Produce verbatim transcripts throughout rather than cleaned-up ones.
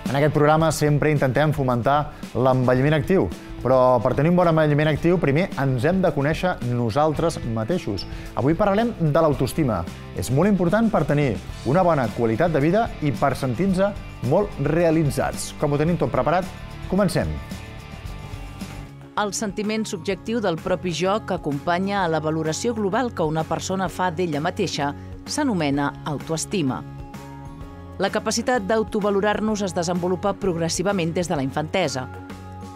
En aquest programa sempre intentem fomentar l'envelliment actiu, però per tenir un bon envelliment actiu primer ens hem de conèixer nosaltres mateixos. Avui parlarem de l'autoestima. És molt important per tenir una bona qualitat de vida i per sentir-nos molt realitzats. Com ho tenim tot preparat? Comencem. El sentiment subjectiu del propi jo que acompanya a la valoració global que una persona fa d'ella mateixa s'anomena autoestima. La capacitat d'autovalorar-nos es desenvolupa progressivament des de la infantesa.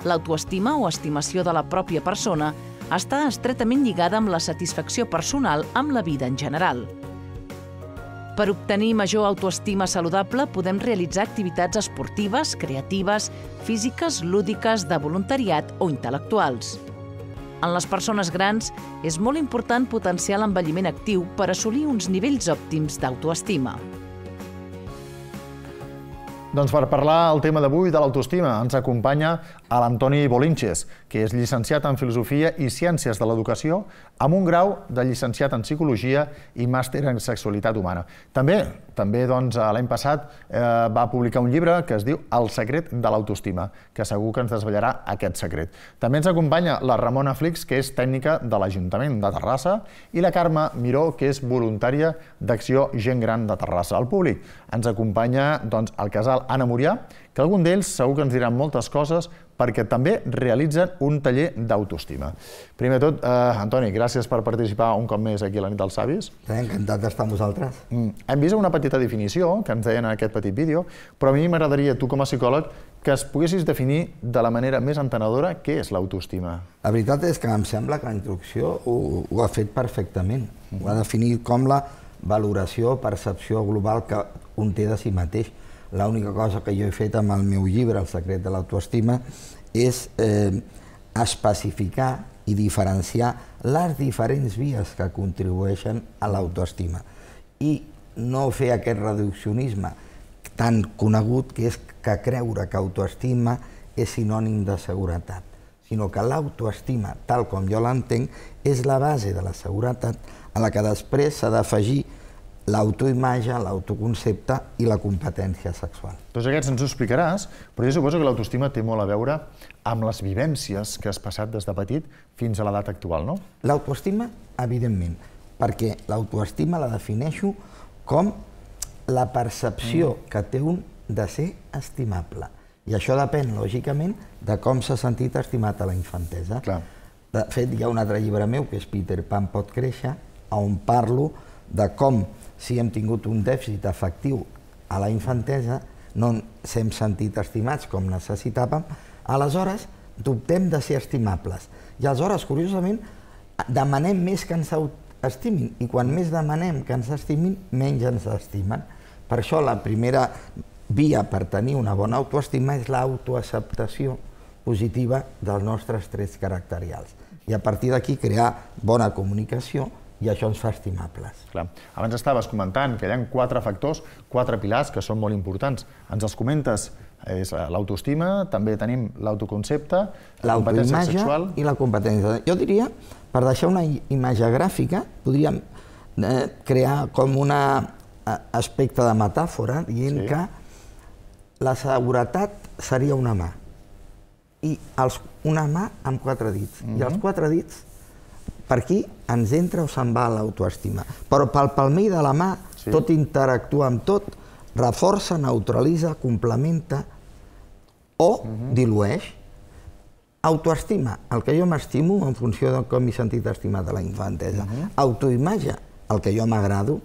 L'autoestima o estimació de la pròpia persona està estretament lligada amb la satisfacció personal amb la vida en general. Per obtenir major autoestima saludable podem realitzar activitats esportives, creatives, físiques, lúdiques, de voluntariat o intel·lectuals. En les persones grans és molt important potenciar l'envelliment actiu per assolir uns nivells òptims d'autoestima. Doncs per parlar el tema d'avui de l'autoestima ens acompanya l'Antoni Bolinches, que és llicenciat en Filosofia i Ciències de l'Educació amb un grau de llicenciat en Psicologia i màster en Sexualitat Humana. També, també doncs, l'any passat eh, va publicar un llibre que es diu El secret de l'autoestima, que segur que ens desvetllarà aquest secret. També ens acompanya la Ramona Flix, que és tècnica de l'Ajuntament de Terrassa, i la Carme Miró, que és voluntària d'Acció Gent Gran de Terrassa. Al públic ens acompanya doncs, el casal Anna Murià, que algun d'ells segur que ens diran moltes coses perquè també realitzen un taller d'autoestima. Primer de tot, eh, Antoni, gràcies per participar un cop més aquí a la nit dels savis. Encantat d'estar amb vosaltres. Mm. Hem vist una petita definició que ens deien en aquest petit vídeo, però a mi m'agradaria, tu com a psicòleg, que es poguessis definir de la manera més entenedora què és l'autoestima. La veritat és que em sembla que la introducció ho, ho ha fet perfectament. Mm. Ho ha definit com la valoració, percepció global que un té de si mateix. L'única cosa que jo he fet amb el meu llibre, El secret de l'autoestima, és eh, especificar i diferenciar les diferents vies que contribueixen a l'autoestima i no fer aquest reduccionisme tan conegut que és que creure que autoestima és sinònim de seguretat, sinó que l'autoestima, tal com jo l'entenc, és la base de la seguretat a la que després s'ha d'afegir l'autoimatge, l'autoconcepte i la competència sexual. Tots aquests ens ho explicaràs, però jo suposo que l'autoestima té molt a veure amb les vivències que has passat des de petit fins a l'edat actual, no? L'autoestima, evidentment, perquè l'autoestima la defineixo com la percepció mm. que té un de ser estimable. I això depèn, lògicament, de com s'ha sentit estimat a la infantesa. Clar. De fet, hi ha un altre llibre meu, que és Peter Pan pot créixer, on parlo de com, si hem tingut un dèficit afectiu a la infantesa, no ens hem sentit estimats com necessitàvem, aleshores dubtem de ser estimables. I aleshores, curiosament, demanem més que ens estimin, i quan més demanem que ens estimin, menys ens estimen. Per això la primera via per tenir una bona autoestima és l'autoacceptació positiva dels nostres trets caracterials. I a partir d'aquí crear bona comunicació, i això ens fa estimables. Clar. Abans estaves comentant que hi ha quatre factors, quatre pilars que són molt importants. Ens els comentes, és l'autoestima, també tenim l'autoconcepte, la competència sexual i la competència. Jo diria, per deixar una imatge gràfica, podríem eh, crear com un aspecte de metàfora, dient sí. que la seguretat seria una mà, i els, una mà amb quatre dits, mm-hmm. i els quatre dits per aquí ens entra o se'n va l'autoestima. Però pel palmell de la mà, sí. tot interactua amb tot, reforça, neutralitza, complementa o uh-huh. dilueix. Autoestima, el que jo m'estimo en funció de com m'he sentit estimat a la infantesa. Uh-huh. Autoimatge, el que jo m'agrado.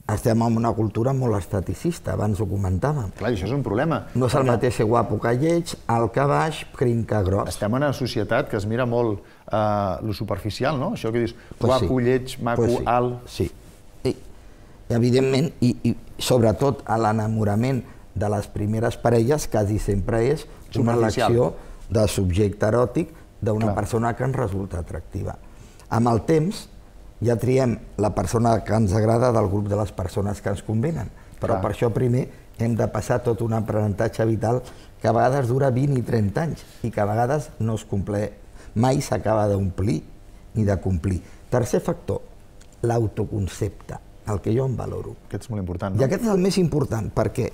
Estem en una cultura molt esteticista, abans ho comentàvem. Clar, això és un problema. No és el mateix ser guapo que lleig, alt que baix, prim que gros. Estem en una societat que es mira molt eh, lo superficial, no? Això que dius, guapo, pues sí. lleig, maco, pues sí. alt... Sí, I, evidentment, i, i sobretot a l'enamorament de les primeres parelles quasi sempre és una elecció de subjecte eròtic d'una persona que ens resulta atractiva. Amb el temps, ja triem la persona que ens agrada del grup de les persones que ens convenen. Però Clar. per això primer hem de passar tot un aprenentatge vital que a vegades dura vint i trenta anys i que a vegades no es compleix, mai s'acaba d'omplir ni de complir. Tercer factor, l'autoconcepte, el que jo em valoro. Aquest és molt important, no? I aquest és el més important perquè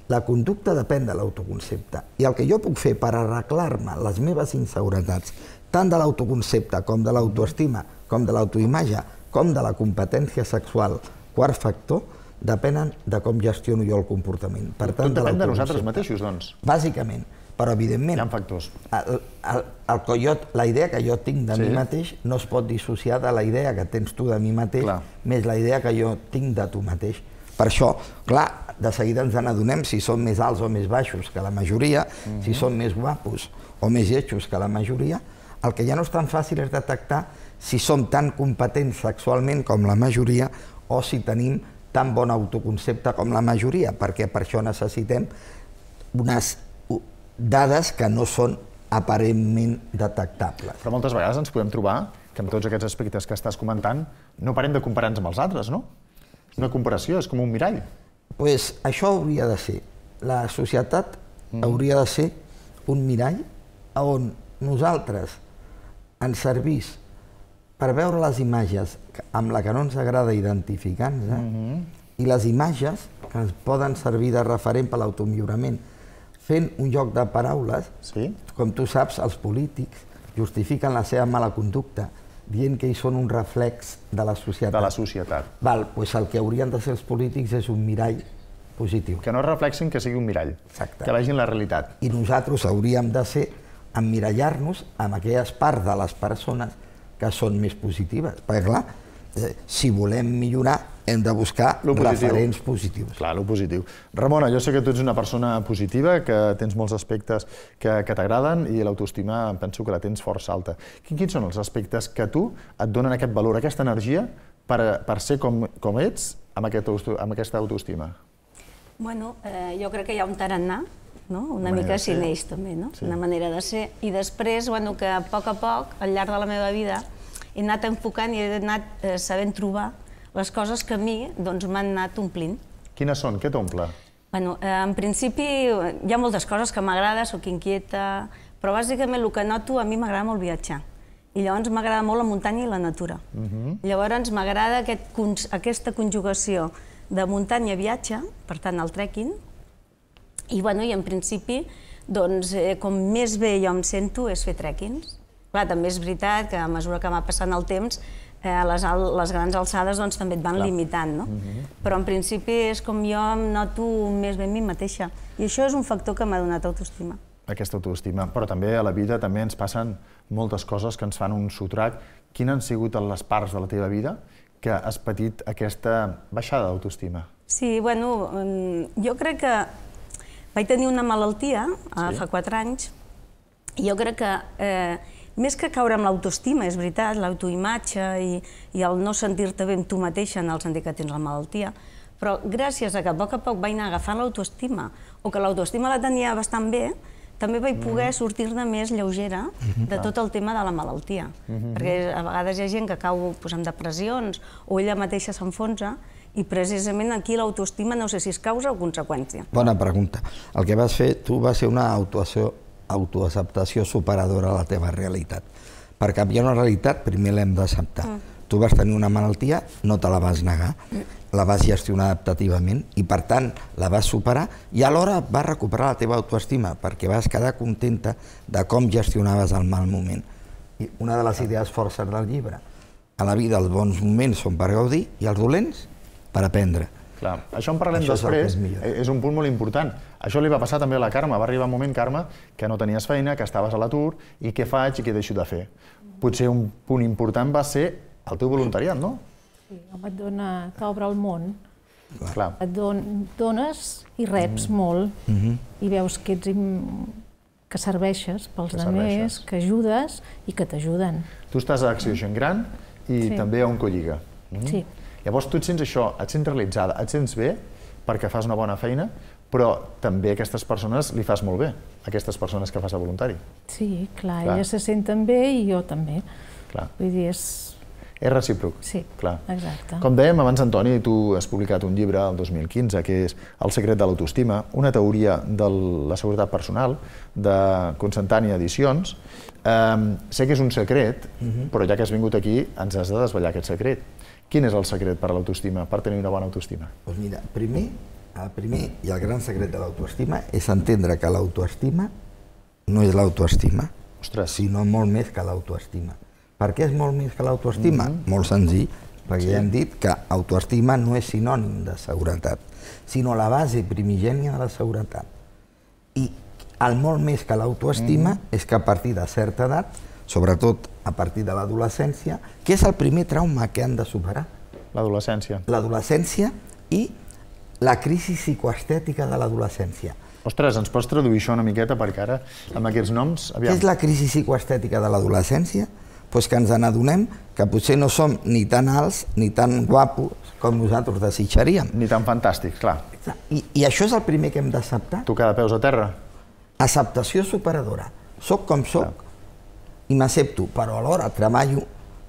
la conducta depèn de l'autoconcepte. I el que jo puc fer per arreglar-me les meves inseguretats, tant de l'autoconcepte com de l'autoestima, com de l'autoimatge, com de la competència sexual, quart factor, depenen de com gestiono jo el comportament. Per tant, Tot depèn de nosaltres mateixos, doncs. Bàsicament. Però, evidentment, Hi ha factors. el, el, el que jo, la idea que jo tinc de Sí. mi mateix no es pot dissociar de la idea que tens tu de mi mateix, Clar. més la idea que jo tinc de tu mateix. Per això, clar, de seguida ens n'adonem si som més alts o més baixos que la majoria, Mhm. si som més guapos o més lletjos que la majoria. El que ja no és tan fàcil és detectar si som tan competents sexualment com la majoria o si tenim tan bon autoconcepte com la majoria, perquè per això necessitem unes dades que no són aparentment detectables. Però moltes vegades ens podem trobar que amb tots aquests aspectes que estàs comentant no parem de comparar-nos amb els altres, no? És una comparació, és com un mirall. Pues això hauria de ser. La societat hauria de ser un mirall on nosaltres ens servís per veure les imatges amb la que no ens agrada identificar-nos eh? i les imatges que ens poden servir de referent per l'automillorament. Fent un joc de paraules, Sí? com tu saps, els polítics justifiquen la seva mala conducta dient que ells són un reflex de la societat. De la societat. Val, doncs el que haurien de ser els polítics és un mirall positiu. Que no reflexin, que sigui un mirall. Exacte. Que vegin la realitat. I nosaltres hauríem de ser emmirallar-nos amb aquelles parts de les persones que són més positives. Perquè, clar, eh, si volem millorar, hem de buscar Lo positiu. referents positius. Clar, lo positiu. Ramona, jo sé que tu ets una persona positiva, que tens molts aspectes que, que t'agraden i l'autoestima penso que la tens força alta. Quins, quins són els aspectes que a tu et donen aquest valor, aquesta energia per, per ser com, com ets amb, aquest, amb aquesta autoestima? Bueno, eh, jo crec que hi ha un tarannà, no? Una Manera mica de si ser. neix també, no? Sí. Una manera de ser. I després, bueno, que a poc a poc, al llarg de la meva vida, he anat enfocant i he anat eh, sabent trobar les coses que a mi doncs, m'han anat omplint. Quines són? Què t'omple? Bueno, eh, en principi hi ha moltes coses que m'agrada, sóc inquieta, però bàsicament el que noto, a mi m'agrada molt viatjar. I llavors m'agrada molt la muntanya i la natura. Llavors m'agrada aquest, cons- aquesta conjugació de muntanya-viatge, per tant el trekking, i, bueno, i en principi, doncs, eh, com més bé jo em sento és fer trekkings. Clar, també és veritat que a mesura que va passant el temps, eh, les, al les grans alçades doncs, també et van Clar. limitant, no? Però en principi és com jo em noto més bé a mi mateixa. I això és un factor que m'ha donat autoestima. Aquesta autoestima. Però també a la vida també ens passen moltes coses que ens fan un sotrac. Quines han sigut les parts de la teva vida que has patit aquesta baixada d'autoestima? Sí, bueno, mm, jo crec que vaig tenir una malaltia eh, Sí. fa quatre anys i jo crec que eh, més que caure amb l'autoestima, és veritat, l'autoimatge i, i el no sentir-te bé amb tu mateixa en el sentit que tens la malaltia, però gràcies a que a poc a poc vaig anar agafant l'autoestima o que l'autoestima la tenia bastant bé, també vaig poder sortir-ne més lleugera de tot el tema de la malaltia. Perquè a vegades hi ha gent que cau doncs, amb depressions o ella mateixa s'enfonsa i precisament aquí l'autoestima no sé si és causa o conseqüència. Bona pregunta. El que vas fer tu va ser una autoació, autoacceptació superadora a la teva realitat. Per canviar una realitat primer l'hem d'acceptar. Mm. Tu vas tenir una malaltia, no te la vas negar, la vas gestionar adaptativament i per tant la vas superar i alhora vas recuperar la teva autoestima perquè vas quedar contenta de com gestionaves el mal moment. I una de les idees forces del llibre, a la vida els bons moments són per gaudir i els dolents per aprendre. Clar, això en parlem Això és el que després, és millor. és un punt molt important. Això li va passar també a la Carme, va arribar un moment, Carme, que no tenies feina, que estaves a l'atur, i què faig i què deixo de fer? Potser un punt important va ser el teu voluntariat, no? Sí, home, et dona, t'obre el món, Clar. et don, dones i reps molt, i veus que ets im- que serveixes pels Que altres, serveixes. que ajudes i que t'ajuden. Tu estàs a Acció Gent Gran i Sí. també a Oncolliga. Sí. Llavors tu et sents això, et sents realitzada, et sents bé perquè fas una bona feina, però també a aquestes persones li fas molt bé, a aquestes persones que fas a voluntari. Sí, clar, Clar. elles se senten bé i jo també. Clar. Vull dir, és... És recíproc. Sí, Clar. exacte. Com dèiem abans, Antoni, tu has publicat un llibre el dos mil quinze, que és El secret de l'autoestima, una teoria de la seguretat personal, de Consentània Edicions. Um, sé que és un secret, però ja que has vingut aquí, ens has de desvetllar aquest secret. Quin és el secret per a l'autoestima, per tenir una bona autoestima? Doncs mira, primer el primer i el gran secret de l'autoestima és entendre que l'autoestima no és l'autoestima, sinó molt més que l'autoestima. Per què és molt més que l'autoestima? Molt senzill, perquè ja hem dit que autoestima no és sinònim de seguretat, sinó la base primigènia de la seguretat. I el molt més que l'autoestima és que a partir de certa edat, sobretot a partir de l'adolescència, que és el primer trauma que han de superar. L'adolescència. L'adolescència i la crisi psicoestètica de l'adolescència. Ostres, ens pots traduir això una miqueta, perquè ara, amb aquests noms... Què és la crisi psicoestètica de l'adolescència? Doncs que ens n'adonem que potser no som ni tan alts ni tan guapos com nosaltres desitjaríem. Ni tan fantàstics, clar. I, i això és el primer que hem d'acceptar. Tocar de peus a terra. Acceptació superadora. Soc com soc i m'accepto, però alhora treballo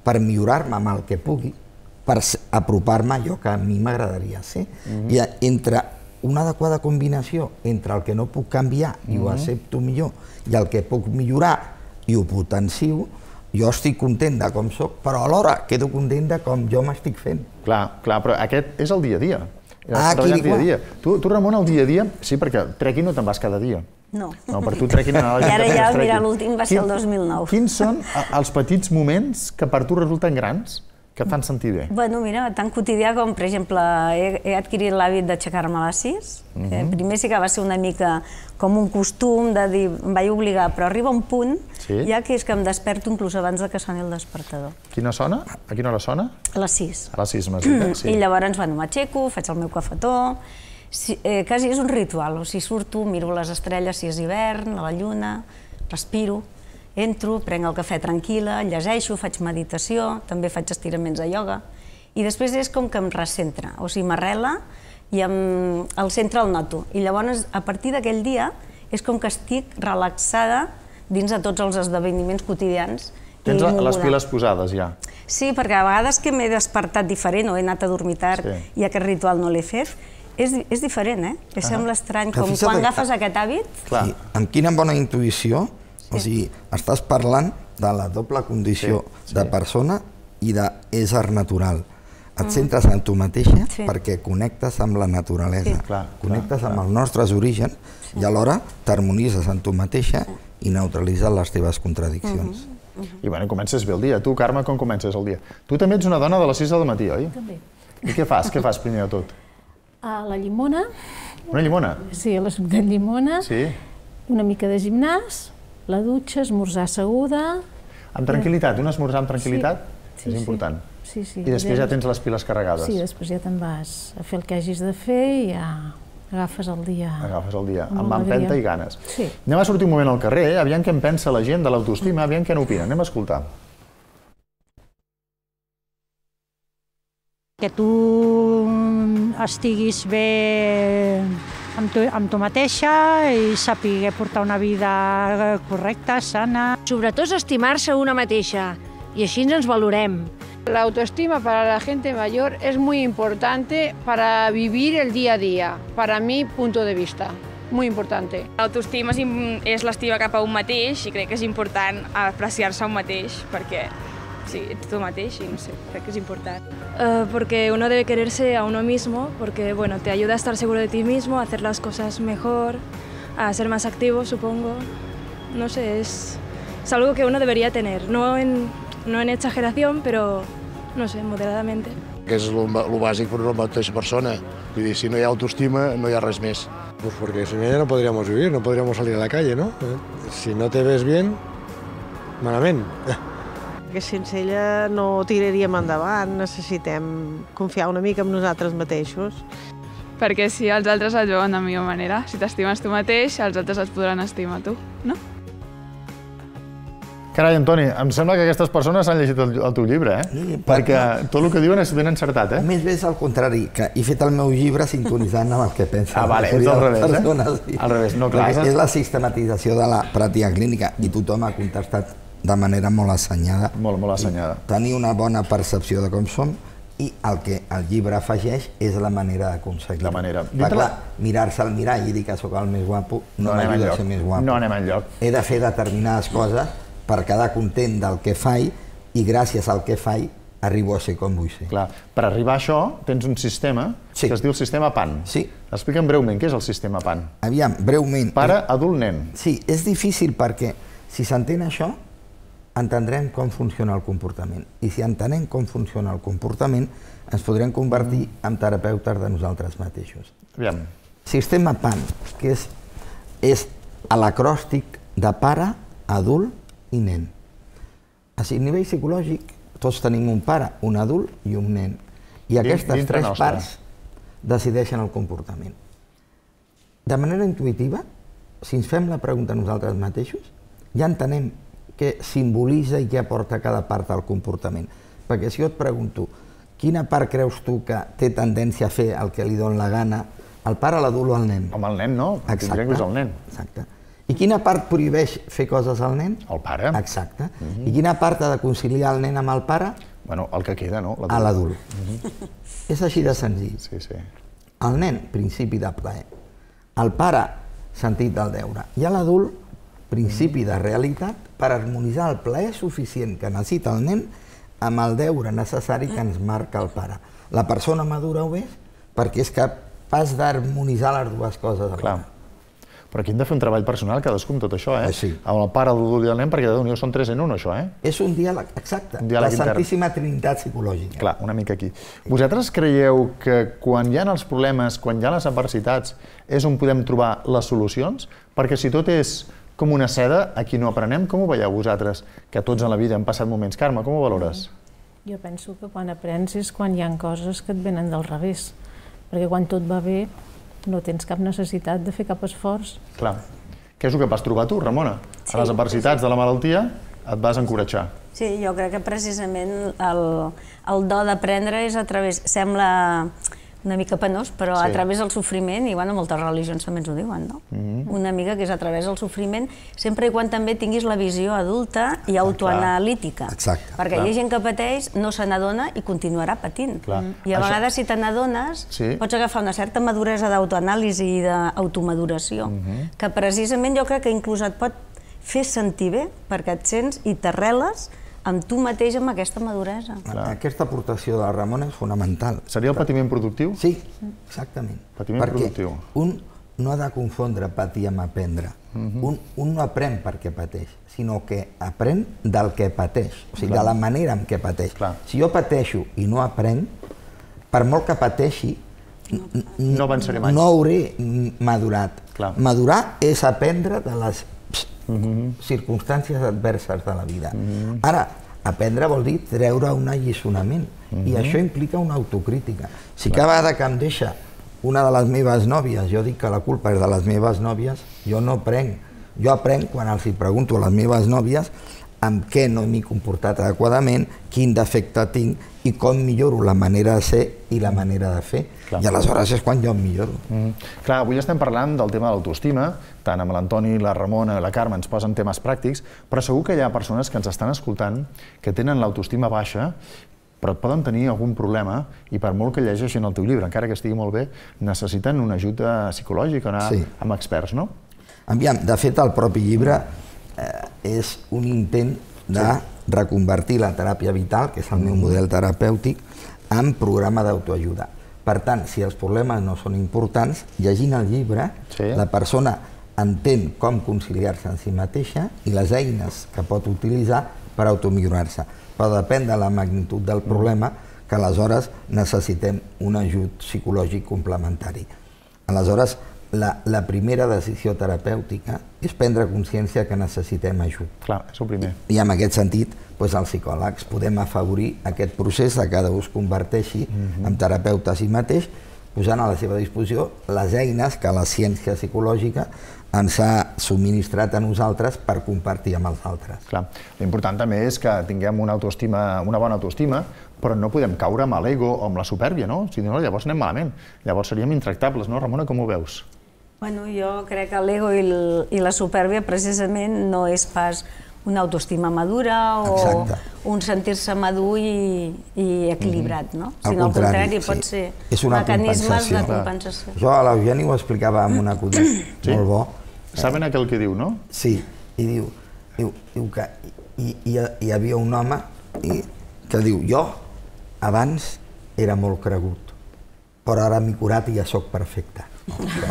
per millorar-me amb el que pugui, per apropar-me a allò que a mi m'agradaria ser. I entre una adequada combinació entre el que no puc canviar i ho accepto millor i el que puc millorar i ho potencio, jo estic content de com soc, però alhora quedo content de com jo m'estic fent. Clar, clar, però aquest és el dia a dia. Ah, aquí dia. Tu, tu, Ramon, el dia a dia, sí, perquè trekking no te'n vas cada dia. No. No, per tu trekking... I ara ja, mira, l'últim va ser el dos mil nou. Quins són els petits moments que per tu resulten grans, que et fan sentir bé? Bueno, mira, tan quotidià com, per exemple, he adquirit l'hàbit d'aixecar-me a les sis. Primer sí que va ser una mica com un costum de dir, em vaig obligar, però arriba un punt ja que és que em desperto inclús abans que soni el despertador. Quina sona? A quina hora sona? A les sis. A les sis, m'has dit, sí. I llavors, bueno, m'aixeco, faig el meu cafetó, quasi és un ritual, o sigui, surto, miro les estrelles si és hivern, a la lluna, respiro, entro, prenc el cafè tranquil·la, llegeixo, faig meditació, també faig estiraments de ioga, i després és com que em recentra, o sigui, m'arrela i el centre el noto. I llavors, a partir d'aquell dia, és com que estic relaxada dins de tots els esdeveniments quotidians. Tens les piles posades, ja? Sí, perquè a vegades que m'he despertat diferent o he anat a dormir tard i aquest ritual no l'he fet, és diferent, eh? Em sembla estrany, com quan agafes aquest hàbit. Amb quina bona intuïció. O sigui, estàs parlant de la doble condició de persona i d'ésser natural. Et centres en tu mateixa perquè connectes amb la naturalesa, connectes amb els nostres orígens i alhora t'harmonitzes en tu mateixa i neutralitzes les teves contradiccions. I bueno, comences bé el dia. Tu, Carme, com comences el dia? Tu també ets una dona de les sis del matí, oi? També. I què fas? Què fas primer de tot? A la llimona. Una llimona? Sí, a la suc de llimona. Sí. Una mica de gimnàs. La dutxa, esmorzar asseguda... Amb tranquil·litat, un esmorzar amb tranquil·litat és important. Sí, sí. I després ja tens les piles carregades. Sí, després ja te'n vas a fer el que hagis de fer i ja agafes el dia. Agafes el dia, amb empenta i ganes. Sí. Anem a sortir un moment al carrer, aviam què en pensa la gent de l'autoestima, aviam què n'opina. Anem a escoltar. Que tu estiguis bé amb tu, amb tu mateixa i saber portar una vida correcta, sana. Sobretot estimar-se una mateixa y así nos valorem. La autoestima para la gente mayor es muy importante para vivir el día a día, para mi punto de vista, muy importante. L'autoestima és l'estima cap a un mateix i crec que és important apreciar-se a un mateix perquè sí, ets tu mateix i no sé, crec que es importante. Uh, porque uno debe quererse a uno mismo, porque bueno, te ayuda a estar seguro de ti mismo, a hacer las cosas mejor, a ser más activo, supongo. No sé, es, es algo que uno debería tener, no en, no en exageración, pero no sé, moderadamente. Que és el bàsic per una mateixa persona. Vull dir, si no hi ha autoestima, no hi ha res més. Pues porque sin ella no podríamos vivir, no podríamos salir a la calle, ¿no? Si no te ves bien, malament. Que sense ella no tiraríem endavant, necessitem confiar una mica en nosaltres mateixos. Perquè si els altres et veuen de millor manera, si t'estimes tu mateix, els altres et podran estimar tu, no? Carai, Antoni, em sembla que aquestes persones han llegit el, el teu llibre, eh? Sí, perquè tot el que diuen és ben encertat, eh? Més bé és al contrari, que he fet el meu llibre sintonitzant amb el que pensen. Ah, vale, és al revés, eh? Al revés, no, clar. És la sistematització de la pràctica clínica i tothom ha contestat de manera molt assenyada. Molt, molt assenyada. Tenir una bona percepció de com som i el que el llibre afegeix és la manera d'aconseguir-ho. La manera. Clar, mirar-se al mirall i dir que sóc el més guapo no m'ajuda a ser més guapo. No anem enlloc. He de fer determinades coses per quedar content del que faig i gràcies al que faig arribo a ser com vull ser. Clar, per arribar a això tens un sistema que es diu el sistema P A N. Sí. Explica'm breument què és el sistema P A N. Aviam, breument. Pare, adult, nen. Sí, és difícil perquè si s'entén això, entendrem com funciona el comportament. I si entenem com funciona el comportament, ens podrem convertir en terapeutes de nosaltres mateixos. Aviam. Sistema P A N, que és, és l'acròstic de pare, adult i nen. A nivell psicològic, tots tenim un pare, un adult i un nen. I aquestes tres parts decideixen el comportament. De manera intuïtiva, si ens fem la pregunta a nosaltres mateixos, ja entenem què simbolitza i què aporta cada part del comportament. Perquè si jo et pregunto quina part creus tu que té tendència a fer el que li dona la gana, el pare, l'adult o el nen? Home, el nen no, tindria que és el nen. Exacte. I quina part prohibeix fer coses al nen? El pare. Exacte. I quina part ha de conciliar el nen amb el pare? Bueno, el que queda, no? A l'adult. És així de senzill. Sí, sí. El nen, principi de plaer. El pare, sentit del deure. I l'adult, principi de realitat, per harmonitzar el plaer suficient que necessita el nen amb el deure necessari que ens marca el pare. La persona madura ho és perquè és capaç d'harmonitzar les dues coses alhora. Però aquí hem de fer un treball personal cadascú amb tot això, eh? Sí. Amb el pare, l'adult i el nen, perquè de són tres en un, això, eh? És un diàleg, exacte. La Santíssima Trinitat psicològica. Clar, una mica aquí. Vosaltres creieu que quan hi ha els problemes, quan hi ha les adversitats, és on podem trobar les solucions? Perquè si tot és com una seda, aquí no aprenem. Com ho veieu vosaltres? Que tots en la vida hem passat moments. Carme, com ho valores? Jo penso que quan aprens és quan hi ha coses que et venen del revés. Perquè quan tot va bé, no tens cap necessitat de fer cap esforç. Clar. Què és el que vas trobar tu, Ramona? A les adversitats de la malaltia et vas encoratjar. Sí, jo crec que precisament el, el do d'aprendre és a través... Sembla una mica penós, però a través del sofriment, i bueno, moltes religions també ens ho diuen, no? Una mica que és a través del sofriment, sempre i quan també tinguis la visió adulta i autoanalítica. Exacte. Perquè hi ha gent que pateix, no se n'adona i continuarà patint. I a vegades, si te n'adones, pots agafar una certa maduresa d'autoanàlisi i d'automaduració, que precisament jo crec que inclús et pot fer sentir bé, perquè et sents i t'arreles amb tu mateix, amb aquesta maduresa. Aquesta aportació de la Ramona és fonamental. Seria el patiment productiu? Sí, exactament. Patiment productiu. Perquè un no ha de confondre patir amb aprendre. Un no aprèn perquè pateix, sinó que aprèn del que pateix, o sigui, de la manera en què pateix. Si jo pateixo i no aprenc, per molt que pateixi, no hauré madurat. Madurar és aprendre de les circumstàncies adverses de la vida. Ara, aprendre vol dir treure un alliçonament, i això implica una autocrítica. Si cada vegada que em deixa una de les meves nòvies, jo dic que la culpa és de les meves nòvies, jo no aprenc. Jo aprenc quan els hi pregunto a les meves nòvies amb què no m'he comportat adequadament, quin defecte tinc i com milloro la manera de ser i la manera de fer. I aleshores és quan jo em milloro. Clar, avui estem parlant del tema de l'autoestima, tant amb l'Antoni, la Ramona i la Carme ens posen temes pràctics, però segur que hi ha persones que ens estan escoltant que tenen l'autoestima baixa, però et poden tenir algun problema i per molt que llegeixin el teu llibre, encara que estigui molt bé, necessiten una ajuda psicològica, anar amb experts, no? Aviam, de fet, el propi llibre és un intent de reconvertir la teràpia vital, que és el meu model terapèutic, en programa d'autoajuda. Per tant, si els problemes no són importants, llegint el llibre, la persona entén com conciliar-se en si mateixa i les eines que pot utilitzar per automillorar-se. Però depèn de la magnitud del problema que aleshores necessitem un ajut psicològic complementari. Aleshores, la primera decisió terapèutica és prendre consciència que necessitem ajut. Clar, és el primer. I en aquest sentit, els psicòlegs podem afavorir aquest procés que cada un es converteixi en terapeuta a si mateix, posant a la seva disposició les eines que la ciència psicològica ens ha subministrat a nosaltres per compartir amb els altres. Clar, l'important també és que tinguem una autoestima, una bona autoestima, però no podem caure amb l'ego o amb la supèrbia, no? Si no, llavors anem malament. Llavors seríem intractables, no, Ramona? Com ho veus? Bueno, jo crec que l'ego i la supèrbia precisament no és pas una autoestima madura o un sentir-se madur i equilibrat, no? Sinó al contrari, pot ser mecanismes de compensació. Jo a l'Eugeni ho explicava amb un acudit molt bo. Saben aquell que diu, no? Sí, i diu que hi havia un home que diu, jo abans era molt cregut, però ara m'he curat i ja sóc perfecte.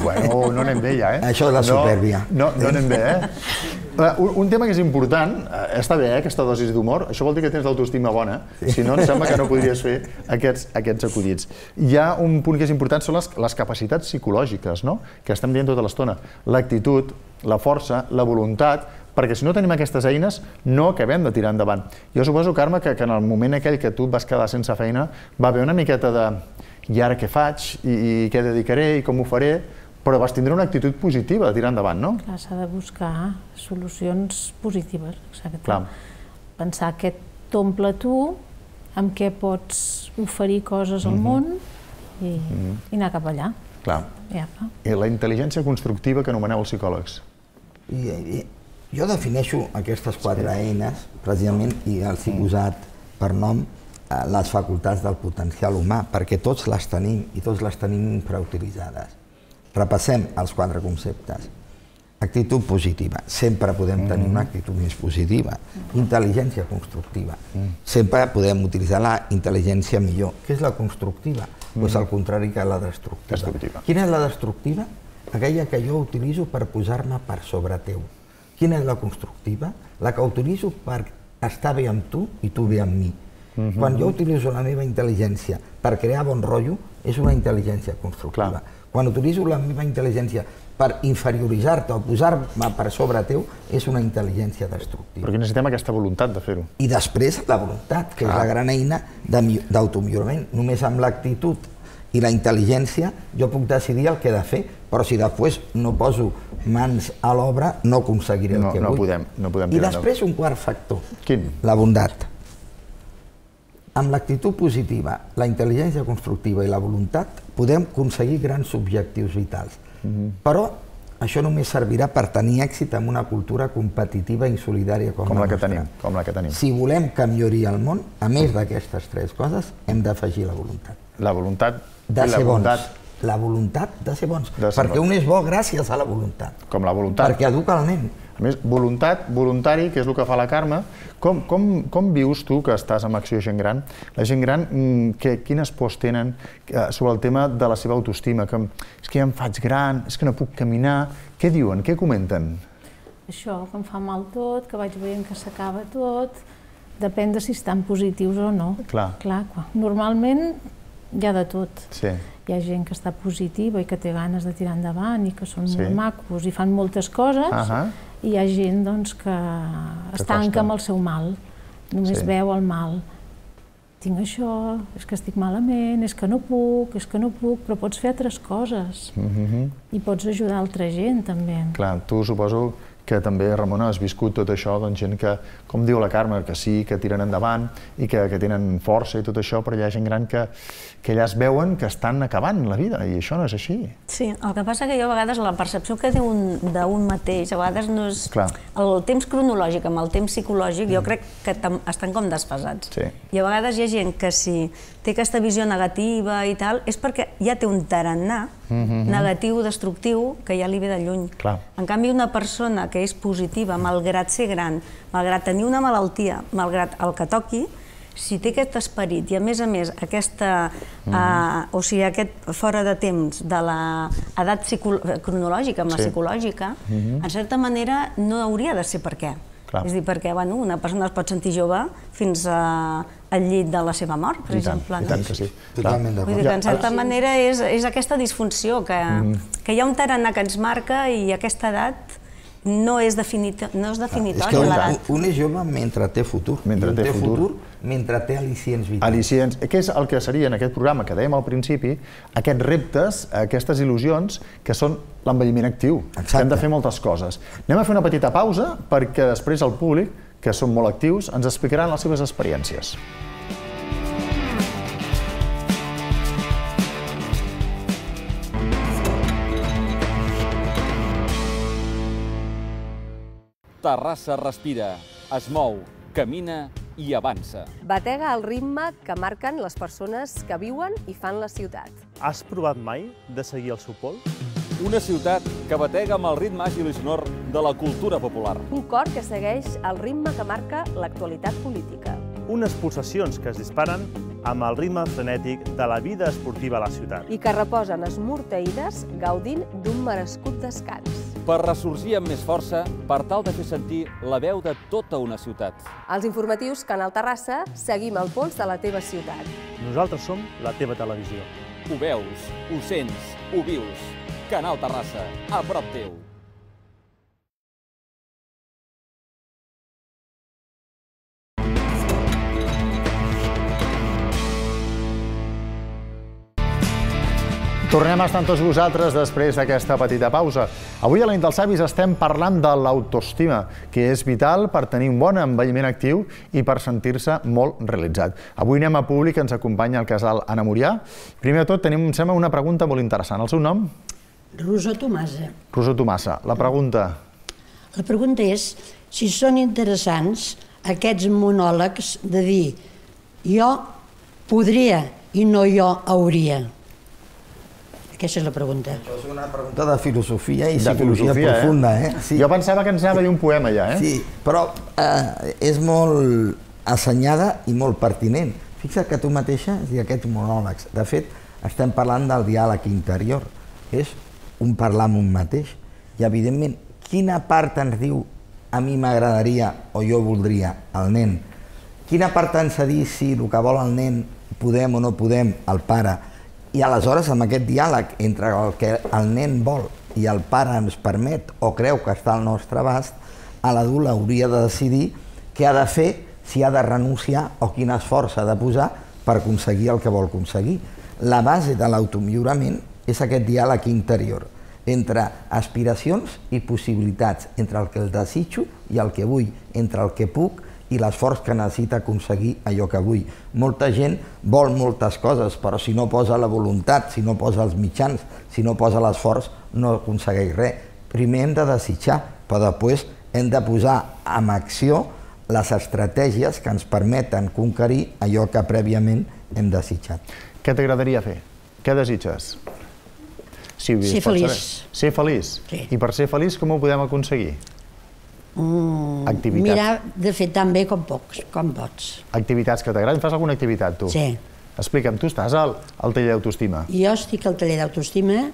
Bueno, no anem bé ja, eh? Això és la supèrbia. No anem bé, eh? Un tema que és important, està bé, aquesta dosi d'humor, això vol dir que tens l'autoestima bona, si no, em sembla que no podries fer aquests acudits. Hi ha un punt que és important, són les capacitats psicològiques, no?, que estem dient tota l'estona. L'actitud, la força, la voluntat, perquè si no tenim aquestes eines no acabem de tirar endavant. Jo suposo, Carme, que en el moment aquell que tu et vas quedar sense feina va haver una miqueta de i ara què faig, i què dedicaré, i com ho faré, però vas tindre una actitud positiva de tirar endavant, no? Clar, s'ha de buscar solucions positives, exacte. Pensar què t'omple tu, amb què pots oferir coses al món i anar cap allà. Clar. I la intel·ligència constructiva que anomeneu els psicòlegs. Jo defineixo aquestes quatre eines, precisament, i els he posat per nom les facultats del potencial humà, perquè tots les tenim i tots les tenim infrautilitzades. Repassem els quatre conceptes. Actitud positiva, sempre podem tenir una actitud més positiva. Intel·ligència constructiva, sempre podem utilitzar la intel·ligència millor. Què és la constructiva? Doncs el contrari que la destructiva. Quina és la destructiva? Aquella que jo utilitzo per posar-me per sobre teu. Quina és la constructiva? La que utilitzo per estar bé amb tu i tu bé amb mi. Quan jo utilitzo la meva intel·ligència per crear bon rotllo, és una intel·ligència constructiva. Quan utilitzo la meva intel·ligència per inferioritzar-te o posar-me per sobre teu, és una intel·ligència destructiva. Perquè necessitem aquesta voluntat de fer-ho. I després la voluntat, que és la gran eina d'automillorament. Només amb l'actitud i la intel·ligència jo puc decidir el que he de fer, però si després no poso mans a l'obra no aconseguiré el que vull. No podem, no podem I després un quart factor. Quin? La bondat. Amb l'actitud positiva, la intel·ligència constructiva i la voluntat podem aconseguir grans objectius vitals. Però això només servirà per tenir èxit en una cultura competitiva i insolidària com la nostra. Com la que tenim. Si volem que millori el món, a més d'aquestes tres coses, hem d'afegir la voluntat. La voluntat de ser bons. La voluntat de ser bons. Perquè un és bo gràcies a la voluntat. Com la voluntat. Perquè educa el nen. A més, voluntat, voluntari, que és el que fa la Carme, com vius tu, que estàs amb Acció Gent Gran, la gent gran, quines pors tenen sobre el tema de la seva autoestima? És que ja em faig gran, és que no puc caminar... Què diuen? Què comenten? Això, que em fa mal tot, que vaig veient que s'acaba tot, depèn de si estan positius o no. Clar. Normalment hi ha de tot. Sí. Hi ha gent que està positiva i que té ganes de tirar endavant i que són molt macos i fan moltes coses, i hi ha gent que es tanca amb el seu mal, només veu el mal. Tinc això, és que estic malament, és que no puc, és que no puc, però pots fer altres coses i pots ajudar altra gent també. Clar, tu suposo que també, Ramona, has viscut tot això, doncs gent que, com diu la Carme, que sí, que tiren endavant i que tenen força i tot això, però hi ha gent gran que allà es veuen que estan acabant la vida i això no és així. Sí, el que passa que jo a vegades la percepció que té d'un mateix, a vegades no és... El temps cronològic amb el temps psicològic jo crec que estan com desfasats. I a vegades hi ha gent que si té aquesta visió negativa i tal, és perquè ja té un tarannà negatiu, destructiu, que ja li ve de lluny. En canvi, una persona que és positiva, malgrat ser gran, malgrat tenir una malaltia, malgrat el que toqui, si té aquest esperit i, a més a més, aquesta, o sigui, aquest fora de temps de l'edat cronològica amb la psicològica, en certa manera no hauria de ser per què. És a dir, perquè una persona es pot sentir jove fins al llit de la seva mort, per exemple. I tant que sí. Totalment d'acord. Vull dir que, en certa manera, és aquesta disfunció, que hi ha un tarannà que ens marca i aquesta edat no és definitòria. És que un és jove mentre té futur. Mentre té futur. Mentre té al·licients vitals. Al·licients. Què és el que seria en aquest programa que dèiem al principi, aquests reptes, aquestes il·lusions, que són l'envelliment actiu. Hem de fer moltes coses. Anem a fer una petita pausa perquè després el públic, que són molt actius, ens explicaran les seves experiències. Terrassa respira, es mou, camina i avança. Batega el ritme que marquen les persones que viuen i fan la ciutat. Has provat mai de seguir el seu pols? Una ciutat que batega amb el ritme àgil i sonor de la cultura popular. Un cor que segueix el ritme que marca l'actualitat política. Unes pulsacions que es disparen amb el ritme frenètic de la vida esportiva a la ciutat. I que reposen esmorteïdes gaudint d'un merescut descans. Per ressorgir amb més força, per tal de fer sentir la veu de tota una ciutat. Als informatius Canal Terrassa seguim el pols de la teva ciutat. Nosaltres som la teva televisió. Ho veus, ho sents, ho vius. Canal Terrassa, a prop teu. Tornem a estar amb tots vosaltres després d'aquesta petita pausa. Avui a la nit dels savis estem parlant de l'autoestima, que és vital per tenir un bon envelliment actiu i per sentir-se molt realitzat. Avui anem a públic, ens acompanya el casal Anna Murià. Primer de tot tenim, em sembla, una pregunta molt interessant. El seu nom? Rosa Tomasa. Rosa Tomasa. La pregunta? La pregunta és si són interessants aquests monòlegs de dir jo podria i no jo hauria. Aquesta és la pregunta. Això és una pregunta de filosofia i psicologia profunda, eh? Jo pensava que ens anava a dir un poema ja, eh? Sí, però és molt assenyada i molt pertinent. Fixa't que tu mateixa has dit aquests monòlegs. De fet, estem parlant del diàleg interior. És un parlar amb un mateix. I, evidentment, quina part ens diu a mi m'agradaria o jo voldria el nen? Quina part ens ha dit si el que vol el nen podem o no podem el pare? I aleshores, amb aquest diàleg entre el que el nen vol i el pare ens permet o creu que està al nostre abast, l'adult hauria de decidir què ha de fer, si ha de renunciar o quin esforç ha de posar per aconseguir el que vol aconseguir. La base de l'automillorament és aquest diàleg interior entre aspiracions i possibilitats, entre el que el desitjo i el que vull, entre el que puc i l'esforç que necessita aconseguir allò que vull. Molta gent vol moltes coses, però si no posa la voluntat, si no posa els mitjans, si no posa l'esforç, no aconsegueix res. Primer hem de desitjar, però després hem de posar en acció les estratègies que ens permeten conquerir allò que prèviament hem desitjat. Què t'agradaria fer? Què desitges? Ser feliç. Ser feliç? I per ser feliç com ho podem aconseguir? Activitats. Mirar de fer tan bé com pots. Activitats que t'agraden? Fas alguna activitat, tu? Sí. Explica'm, tu estàs al taller d'autoestima? Jo estic al taller d'autoestima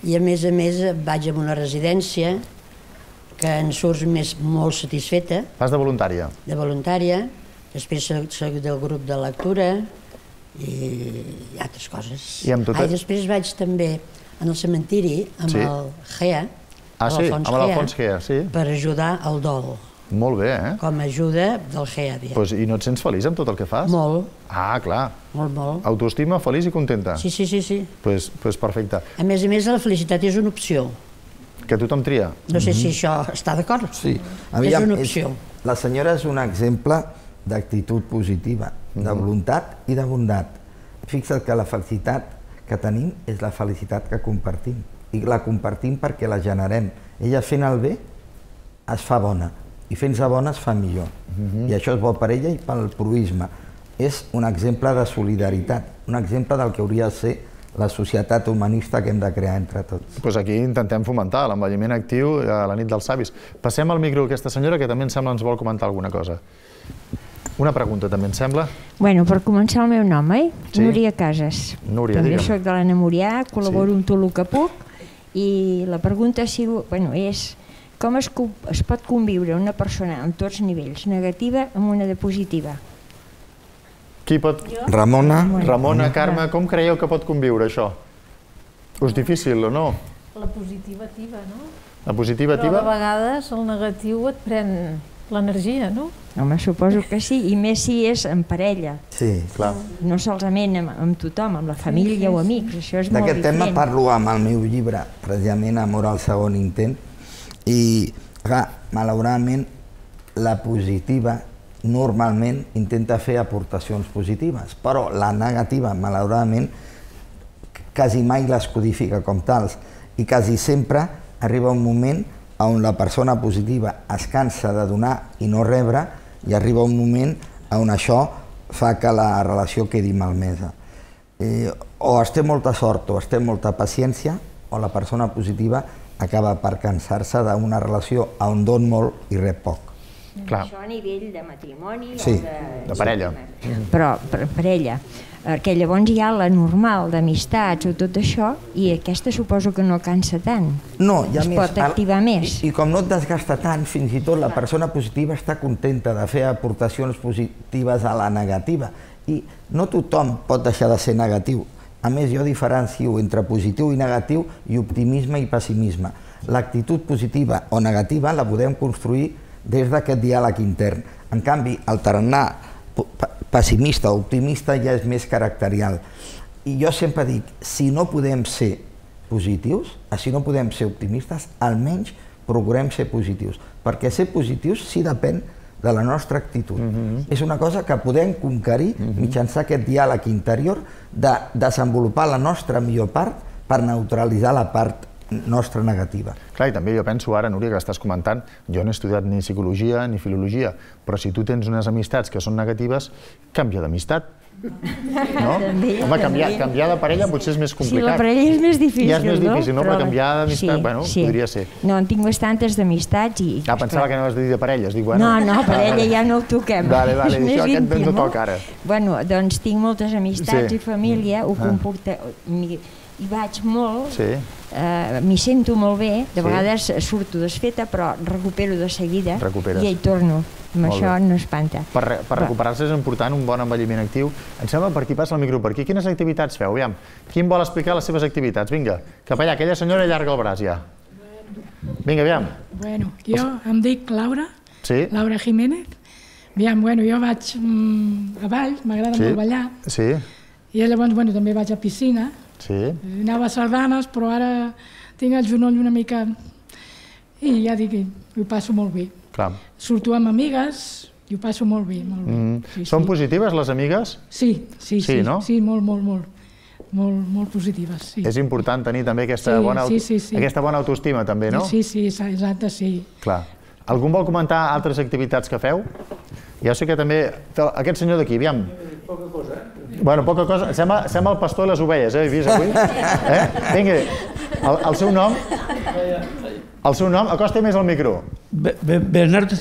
i, a més a més, vaig a una residència que en surts molt satisfeta. Fas de voluntària? De voluntària. Després soc del grup de lectura i altres coses. I després vaig també en el cementiri amb el G E A, Ah, sí, amb l'Alfons Gea, sí. Per ajudar al dol. Molt bé, eh? Com a ajuda del Gea. I no et sents feliç amb tot el que fas? Molt. Ah, clar. Molt, molt. Autoestima, feliç i contenta? Sí, sí, sí. Doncs perfecte. A més a més, la felicitat és una opció. Que tothom tria? No sé si això està d'acord. Sí. És una opció. La senyora és un exemple d'actitud positiva, de voluntat i de bondat. Fixa't que la felicitat que tenim és la felicitat que compartim. I la compartim perquè la generem. Ella fent el bé es fa bona i fent-se bona es fa millor. I això és bo per ella i pel proisme. És un exemple de solidaritat, un exemple del que hauria de ser la societat humanista que hem de crear entre tots. Doncs aquí intentem fomentar l'envelliment actiu a la nit dels savis. Passem al micro a aquesta senyora que també em sembla ens vol comentar alguna cosa. Una pregunta també, em sembla? Bueno, per començar el meu nom, eh? Núria Casas. Núria, digue'm. També soc de l'Anna Murià, col·laboro amb tot el que puc. I la pregunta és com es pot conviure una persona amb tots nivells, negativa amb una de positiva? Qui pot? Ramona. Ramona, Carme, com creieu que pot conviure això? És difícil o no? La positivativa, no? La positivativa? Però a vegades el negatiu et pren l'energia, no? Home, suposo que sí, i més si és en parella. Sí, clar. No solament amb tothom, amb la família o amics, això és molt diferent. D'aquest tema parlo amb el meu llibre, precisament Amor al segon intent, i, clar, malauradament, la positiva normalment intenta fer aportacions positives, però la negativa, malauradament, quasi mai les codifica com tals, i quasi sempre arriba un moment on la persona positiva es cansa de donar i no rebre, i arriba un moment on això fa que la relació quedi malmesa. O es té molta sort o es té molta paciència, o la persona positiva acaba per cansar-se d'una relació on don molt i rep poc. Això a nivell de matrimoni sí, o de... de parella. Però per parella. Que llavors hi ha la normal d'amistats o tot això, i aquesta suposo que no cansa tant. No, hi ha es més. pot activar més. I, I com no et desgasta tant, fins i tot la persona positiva està contenta de fer aportacions positives a la negativa. I no tothom pot deixar de ser negatiu. A més, jo diferencio entre positiu i negatiu i optimisme i pessimisme. L'actitud positiva o negativa la podem construir des d'aquest diàleg intern. En canvi, el tarannà pessimista o optimista ja és més caracterial. I jo sempre dic, si no podem ser positius, si no podem ser optimistes, almenys procurem ser positius, perquè ser positius sí depèn de la nostra actitud. És una cosa que podem conquerir mitjançant aquest diàleg interior de desenvolupar la nostra millor part per neutralitzar la part nostra negativa. Clar, i també jo penso ara, Núria, que estàs comentant, jo no he estudiat ni psicologia ni filologia, però si tu tens unes amistats que són negatives, canvia d'amistat. No? Home, canviar de parella potser és més complicat. Sí, la parella és més difícil, no? Ja és més difícil, no? Però canviar d'amistat, bueno, podria ser. No, en tinc bastantes d'amistats i... Ah, pensava que anaves a dir de parelles, dic, bueno... No, no, parella ja no ho toquem. Vale, vale, això aquest no toca ara. Bueno, doncs tinc moltes amistats i família, ho comporta... Hi vaig molt, m'hi sento molt bé, de vegades surto desfeta, però recupero de seguida i hi torno. Amb això no espanta. Per recuperar-se és important un bon envelliment actiu. Em sembla per aquí passa el micro per aquí. Quines activitats feu? Aviam, qui em vol explicar les seves activitats? Vinga, cap allà, aquella senyora allarga el braç ja. Vinga, aviam. Bueno, jo em dic Laura, Laura Jiménez. Aviam, bueno, jo vaig a ball, m'agrada molt ballar. Sí. I llavors, bueno, també vaig a piscina. Sí. Anava a sardanes, però ara tinc el genoll una mica... I ja dic, ho passo molt bé. Clar. Surto amb amigues i ho passo molt bé, molt bé. Mm. Són positives les amigues? Sí, sí, sí, no? sí, molt, molt, molt, molt, molt positives, sí. És important tenir també aquesta, sí, bona, sí, sí, sí. aquesta bona autoestima, també, no? Sí, sí, exacte, sí. Clar. Algú vol comentar altres activitats que feu? Ja sé que també... Aquest senyor d'aquí, aviam. Poca cosa, eh? Bueno, poca cosa. Sembla, sembla el pastor i les ovelles, eh? He vist avui? Eh? Vinga, el, el seu nom... El seu nom, acosta més al micro. Be Bernardo,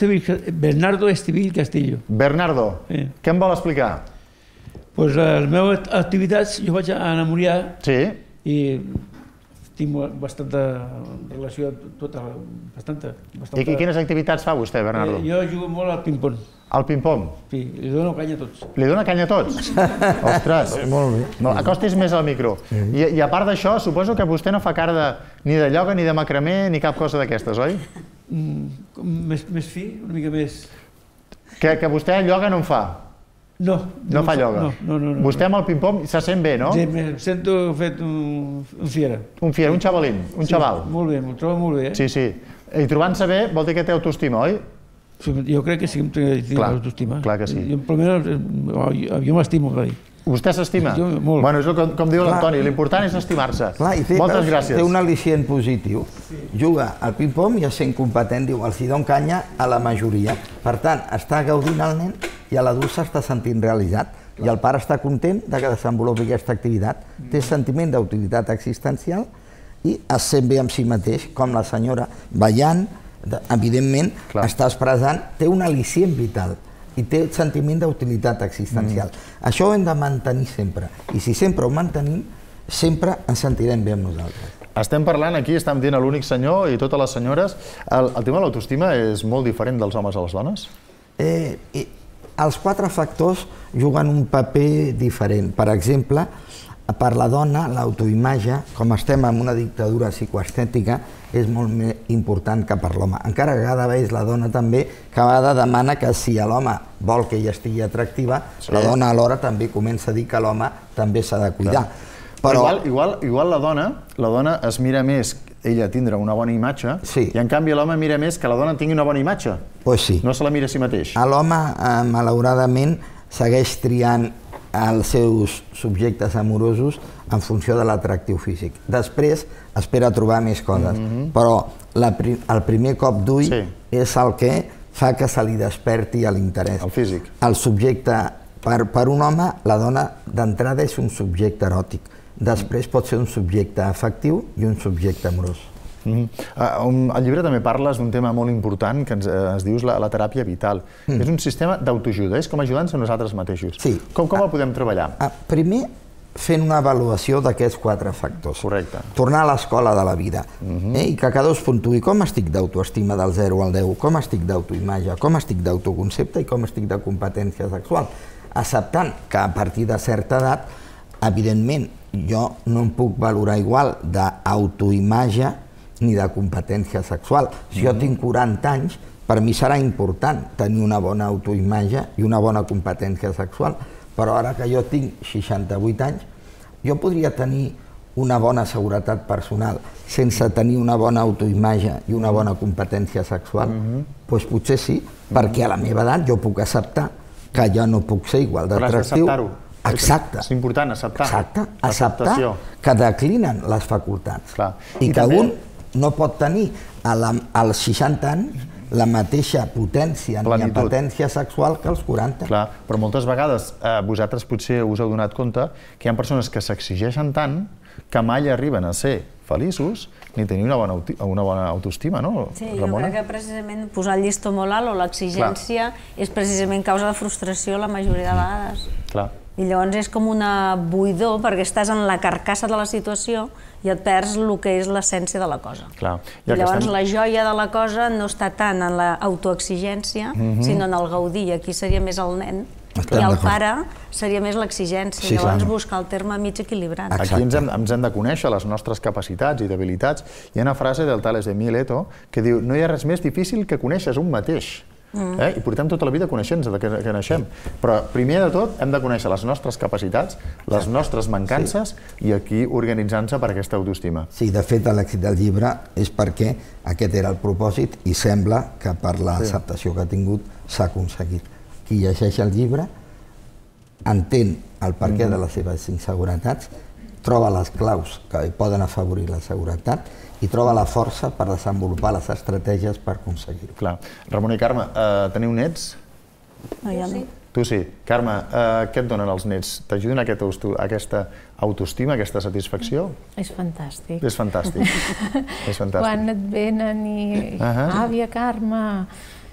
Bernardo Estivill Castillo. Bernardo, sí. Què em vol explicar? Pues les meves activitats, jo vaig a enamorar sí. I tinc bastanta relació, tota, bastanta. bastanta... I quines activitats fa vostè, Bernardo? Eh, jo jugo molt al ping-pong. Al ping-pong? Sí, li dono canya a tots. Li dona canya a tots? Ostres! Molt bé. No, acostis més al micro. I, I a part d'això, suposo que vostè no fa cara de, ni de ioga, ni de macramé, ni cap cosa d'aquestes, oi? Mm, més, més fi, una mica més... Que, que vostè ioga no en fa? No. No, no fa ioga? No, no, no. Vostè amb el ping-pong se sent bé, no? Sí, em sento fet un, un fiera. Un fiera, un xavalín, un sí, xaval. Molt bé, m'ho trobo molt bé. Eh? Sí, sí. I trobant-se bé vol dir que té autoestima, oi? Jo crec que sí que em tinc autoestima. Clar que sí. Jo, primer, jo m'estimo, va dir. Vostè s'estima? Bueno, és com, com diu l'Antoni, l'important és estimar-se. Moltes gràcies. Té un al·licient positiu. Juga al ping-pong i sent competent, diu, els hi don canya a la majoria. Per tant, està gaudint el nen i a l'adult s'està sentint realitzat. I el pare està content de que desenvolupi aquesta activitat. Té sentiment d'utilitat existencial i es sent bé amb si mateix, com la senyora ballant, evidentment, està expressant, té un al·licient vital i té sentiment d'utilitat existencial. Això ho hem de mantenir sempre. I si sempre ho mantenim, sempre ens sentirem bé amb nosaltres. Estem parlant aquí, estem dient a l'únic senyor i totes les senyores. El, el tema de l'autoestima és molt diferent dels homes a les dones? Eh, eh, els quatre factors juguen un paper diferent. Per exemple, per la dona, l'autoimatge, com estem en una dictadura psicoestètica, és molt més important que per l'home. Encara que cada vegada la dona també, cada vegada demana que si l'home vol que ella estigui atractiva, sí. La dona alhora també comença a dir que l'home també s'ha de cuidar. Però igual, igual, igual la dona, la dona es mira més ella tindre una bona imatge, sí. I en canvi l'home mira més que la dona tingui una bona imatge. Pues sí. No se la mira a si mateix. L'home, eh, malauradament, segueix triant els seus subjectes amorosos en funció de l'atractiu físic. Després espera trobar més coses, mm-hmm. però la, el primer cop d'ull sí. És el que fa que se li desperti l'interès. El físic. El subjecte, per, per un home, la dona d'entrada és un subjecte eròtic. Després pot ser un subjecte afectiu i un subjecte amorós. Al llibre també parles d'un tema molt important que ens dius la teràpia vital. És un sistema d'autoajuda, és com ajudar-nos a nosaltres mateixos. Com el podem treballar? Primer, fent una avaluació d'aquests quatre factors. Correcte. Tornar a l'escola de la vida i que cada dos puntuï com estic d'autoestima del zero al deu, com estic d'autoimatge, com estic d'autoconcepte i com estic de competència sexual. Acceptant que a partir de certa edat, evidentment, jo no em puc valorar igual d'autoimatge ni de competència sexual. Si jo tinc quaranta anys, per mi serà important tenir una bona autoimatge i una bona competència sexual. Però ara que jo tinc seixanta-vuit anys, jo podria tenir una bona seguretat personal sense tenir una bona autoimatge i una bona competència sexual? Doncs potser sí, perquè a la meva edat jo puc acceptar que jo no puc ser igual d'atractiu. Però has d'acceptar-ho. Exacte. És important, acceptar. Exacte, acceptar que declinen les facultats. I que un no pot tenir als seixanta anys la mateixa potència ni potència sexual que als quaranta. Clar, però moltes vegades vosaltres potser us heu donat compte que hi ha persones que s'exigeixen tant que mai arriben a ser feliços ni tenir una bona autoestima, no, Ramona? Sí, jo crec que precisament posar el llistó molt alt o l'exigència és precisament causa de frustració la majoria de vegades. Clar. I llavors és com una buidor perquè estàs en la carcassa de la situació i et perds el que és l'essència de la cosa. I llavors la joia de la cosa no està tant en l'autoexigència, sinó en el gaudir. I aquí seria més el nen i el pare seria més l'exigència. Llavors buscar el terme mig equilibrat. Aquí ens hem de conèixer les nostres capacitats i debilitats. Hi ha una frase del Tales de Mileto que diu: no hi ha res més difícil que conèixer un mateix. I portem tota la vida coneixent-nos de que naixem. Però primer de tot hem de conèixer les nostres capacitats, les nostres mancances i aquí organitzar-nos per aquesta autoestima. Sí, de fet l'èxit del llibre és perquè aquest era el propòsit i sembla que per l'acceptació que ha tingut s'ha aconseguit. Qui llegeix el llibre entén el perquè de les seves inseguretats, troba les claus que poden afavorir la seguretat i troba la força per desenvolupar les estratègies per aconseguir-ho. Clar. Ramona i Carme, teniu nets? No, jo no. Tu sí. Carme, què et donen els nets? T'ajuden a aquesta autoestima, a aquesta satisfacció? És fantàstic. És fantàstic. Quan et venen i... Àvia, Carme,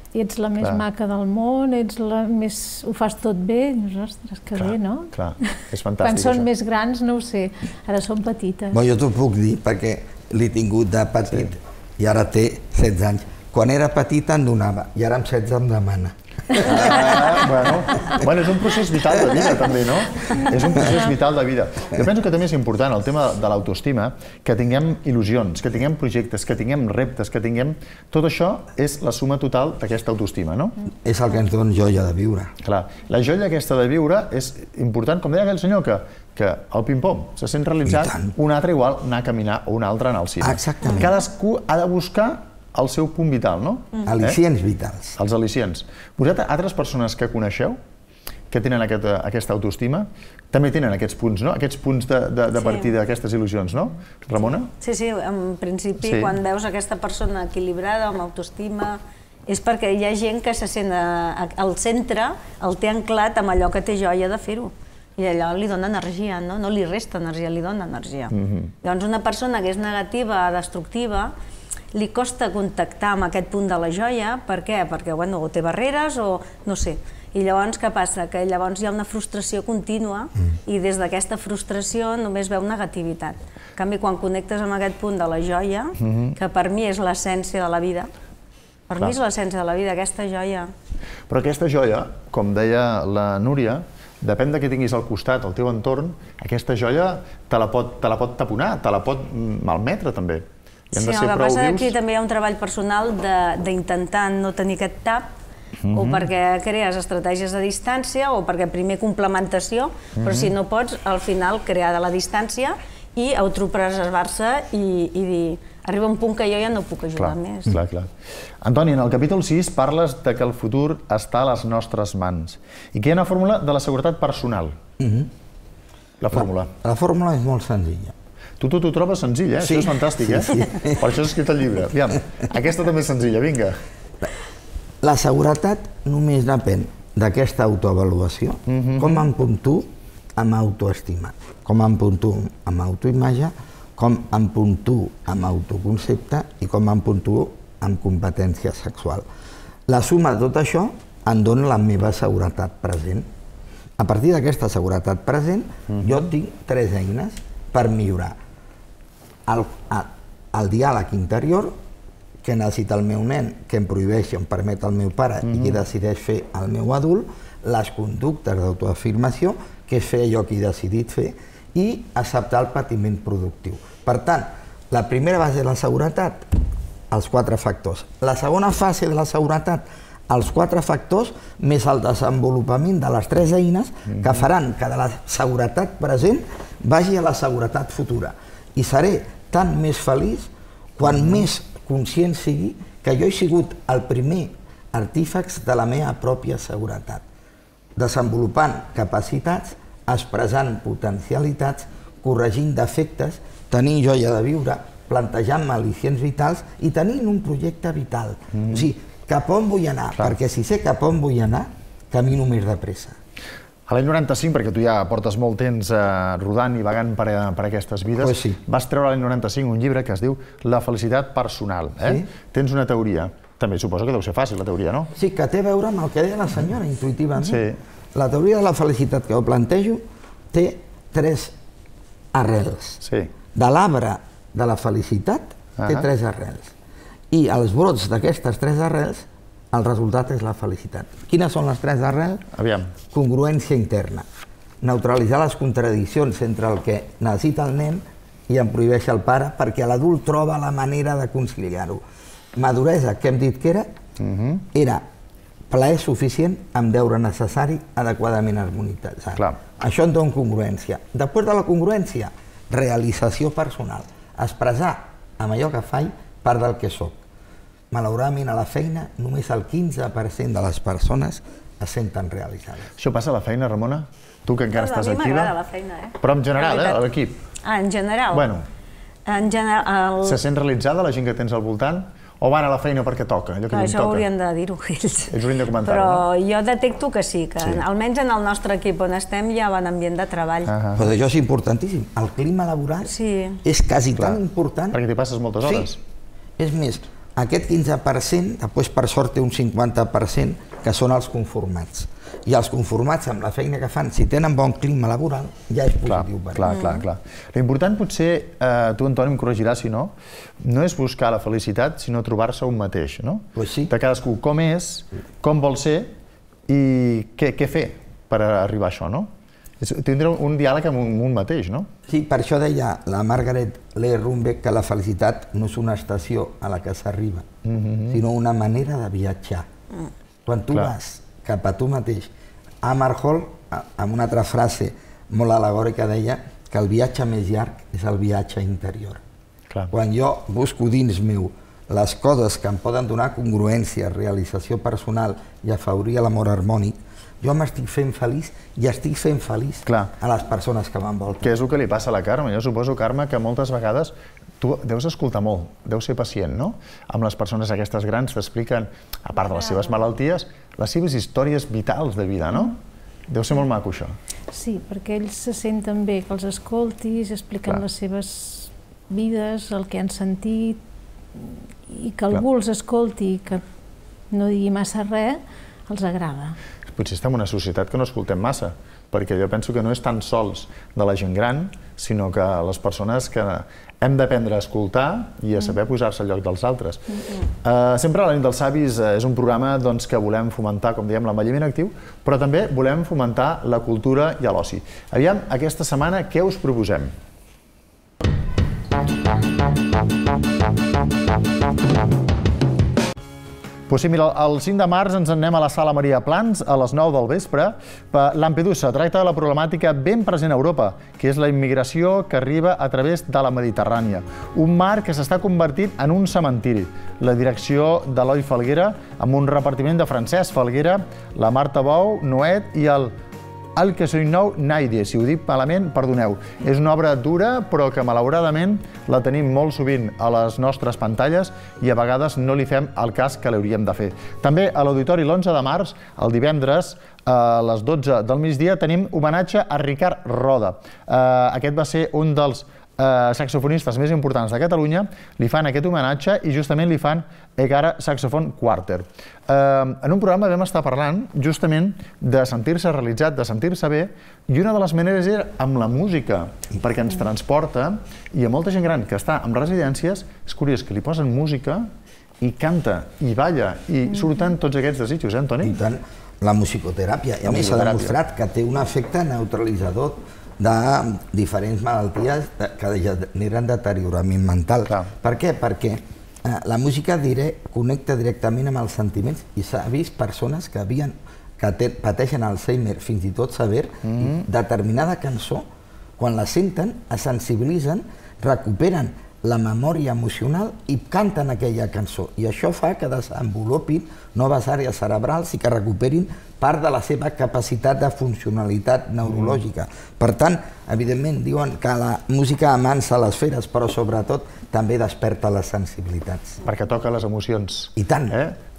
ets la més maca del món, ets la més... ho fas tot bé, ostres, que bé, no? Clar, és fantàstic. Quan són més grans, no ho sé, ara són petites. Jo t'ho puc dir perquè l'he tingut de petit i ara té setze anys. Quan era petita em donava i ara amb setze em demana. Bueno, és un procés vital de vida també, no? És un procés vital de vida. Jo penso que també és important el tema de l'autoestima, que tinguem il·lusions, que tinguem projectes, que tinguem reptes, que tinguem... Tot això és la suma total d'aquesta autoestima, no? És el que ens dona joia de viure. Clar, la joia aquesta de viure és important, com deia aquell senyor, que que el ping-pong se sent realitzat, un altre igual anar a caminar o un altre anar al cine. Exactament. Cadascú ha de buscar el seu punt vital, no? Al·licients vitals. Els al·licients. Vosaltres, altres persones que coneixeu, que tenen aquesta autoestima, també tenen aquests punts, no? Aquests punts de partida, aquestes il·lusions, no? Ramona? Sí, sí, en principi, quan veus aquesta persona equilibrada, amb autoestima, és perquè hi ha gent que se sent al centre, el té anclat amb allò que té joia de fer-ho. I allò li dona energia, no? No li resta energia, li dona energia. Llavors, una persona que és negativa, destructiva, li costa contactar amb aquest punt de la joia. Per què? Perquè o té barreres o no sé. I llavors què passa? Que llavors hi ha una frustració contínua i des d'aquesta frustració només veu negativitat. En canvi, quan connectes amb aquest punt de la joia, que per mi és l'essència de la vida, per mi és l'essència de la vida, aquesta joia. Però aquesta joia, com deia la Núria, depèn de què tinguis al costat, al teu entorn, aquesta joia te la pot taponar, te la pot malmetre també. Sí, el que passa és que aquí també hi ha un treball personal d'intentar no tenir aquest tap, o perquè crees estratègies de distància, o perquè primer complementació, però si no pots, al final crear de la distància i autopreservar-se i dir arriba un punt que jo ja no puc ajudar més. Clar, clar. Antoni, en el capítol sis parles que el futur està a les nostres mans i que hi ha una fórmula de la seguretat personal. La fórmula. La fórmula és molt senzilla. Tu t'ho trobes senzill, eh? Això és fantàstic, eh? Per això has escrit el llibre. Aviam, aquesta també és senzilla, vinga. La seguretat només depèn d'aquesta autoavaluació. Com em puntuo amb autoestima, com em puntuo amb autoimatge, com em puntuo amb autoconcepte i com em puntuo amb competència sexual. La suma de tot això em dona la meva seguretat present. A partir d'aquesta seguretat present, jo tinc tres eines per millorar. El, el diàleg interior, que necessita el meu nen, que em prohibeixi o em permet el meu pare i que decideix fer el meu adult, les conductes d'autoafirmació, que és fer allò que he decidit fer, i acceptar el patiment productiu. Per tant, la primera base de la seguretat, els quatre factors. La segona fase de la seguretat, els quatre factors més el desenvolupament de les tres eines que faran que de la seguretat present vagi a la seguretat futura. I seré tan més feliç quan més conscient sigui que jo he sigut el primer artífex de la meva pròpia seguretat, desenvolupant capacitats, expressant potencialitats, corregint defectes, tenint joia de viure, plantejant-me al·licients vitals i tenint un projecte vital. O sigui, cap on vull anar? Perquè si sé cap on vull anar, camino més de pressa. A l'any noranta-cinc, perquè tu ja portes molt temps rodant i vagant per aquestes vides, vas treure l'any noranta-cinc un llibre que es diu La felicitat personal. Tens una teoria. També suposo que deu ser fàcil, la teoria, no? Sí, que té a veure amb el que deia la senyora, intuïtivament. La teoria de la felicitat que jo plantejo té tres arrels. De l'arbre de la felicitat té tres arrels. I els brots d'aquestes tres arrels, el resultat és la felicitat. Quines són les tres arrels? Aviam. Congruència interna. Neutralitzar les contradiccions entre el que necessita el nen i em prohibeix el pare, perquè l'adult troba la manera de conciliar-ho. Maduresa, que hem dit que era, era plaer suficient amb deure necessari adequadament harmonitzat. Això em dona congruència. Després de la congruència, realització personal. Expressar amb allò que faig part del que soc. Malauradament, a la feina, només el quinze per cent de les persones es senten realitzades. Això passa a la feina, Ramona? Tu que encara estàs activa. A mi m'agrada la feina, eh? Però en general, eh, a l'equip. Ah, en general? Bueno. En general... Se sent realitzada la gent que tens al voltant? O van a la feina perquè toca? Això haurien de dir-ho ells. Ells haurien de comentar-ho, no? Però jo detecto que sí, que almenys en el nostre equip on estem hi ha bon ambient de treball. Però això és importantíssim. El clima laboral és quasi tan important... Perquè t'hi passes moltes hores. És més, aquest quinze per cent, després per sort té un cinquanta per cent, que són els conformats. I els conformats amb la feina que fan, si tenen bon clima laboral, ja és positiu per ells. Clar, clar, clar. L'important potser, tu, Antoni, em corregiràs si no, no és buscar la felicitat, sinó trobar-se un mateix, no? De cadascú, com és, com vol ser i què fer per arribar a això, no? Tindre un diàleg amb un mateix, no? Sí, per això deia la Margaret Lee Runbeck que la felicitat no és una estació a la que s'arriba, sinó una manera de viatjar. Quan tu vas cap a tu mateix, Amarhol, amb una altra frase molt alegòrica, deia que el viatge més llarg és el viatge interior. Quan jo busco dins meu les coses que em poden donar congruència, realització personal i afavorir l'amor harmònic, jo m'estic fent feliç i estic fent feliç a les persones que m'envolten. Què és el que li passa a la Carme? Jo suposo, Carme, que moltes vegades tu deus escoltar molt, deus ser pacient, no? Amb les persones aquestes grans t'expliquen, a part de les seves malalties, les seves històries vitals de vida, no? Deu ser molt maco, això. Sí, perquè ells se senten bé que els escoltis, expliquen les seves vides, el que han sentit, i que algú els escolti i que no digui massa res, els agrada. Potser estem en una societat que no escoltem massa, perquè jo penso que no és tan sols de la gent gran, sinó que les persones que hem d'aprendre a escoltar i a saber posar-se al lloc dels altres. Sempre la nit dels savis és un programa que volem fomentar, com dèiem, l'envelliment actiu, però també volem fomentar la cultura i l'oci. Aviam, aquesta setmana, què us proposem? Doncs sí, mira, el cinc de març ens anem a la Sala Maria Plans a les nou del vespre. Lampedusa tracta de la problemàtica ben present a Europa, que és la immigració que arriba a través de la Mediterrània. Un mar que s'està convertint en un cementiri. La direcció d'Eloi Falguera, amb un repartiment de Francesc Falguera, la Marta Bou, Noet i el El que soy nou, Naide, si ho dic malament, perdoneu. És una obra dura, però que malauradament la tenim molt sovint a les nostres pantalles i a vegades no li fem el cas que l'hauríem de fer. També a l'Auditori l'onze de març, el divendres, a les dotze del migdia, tenim homenatge a Ricard Roda. Aquest va ser un dels saxofonistes més importants de Catalunya li fan aquest homenatge i justament li fan Egara Saxophone Quartet. En un programa vam estar parlant justament de sentir-se realitzat, de sentir-se bé, i una de les maneres era amb la música, perquè ens transporta, i a molta gent gran que està en residències, és curiós que li posen música i canta, i balla, i surten tots aquests desitjos, eh, Antoni? I tant, la musicoteràpia. I a més s'ha demostrat que té un efecte neutralitzador de diferents malalties que generen deteriorament mental. Per què? Perquè la música connecta directament amb els sentiments i s'ha vist persones que havien que pateixen Alzheimer, fins i tot sever, determinada cançó, quan la senten, es sensibilitzen, recuperen la memòria emocional i canten aquella cançó. I això fa que desenvolupin noves àrees cerebrals i que recuperin part de la seva capacitat de funcionalitat neurològica. Per tant, evidentment, diuen que la música amansa les feres, però sobretot també desperta les sensibilitats. Perquè toca les emocions. I tant.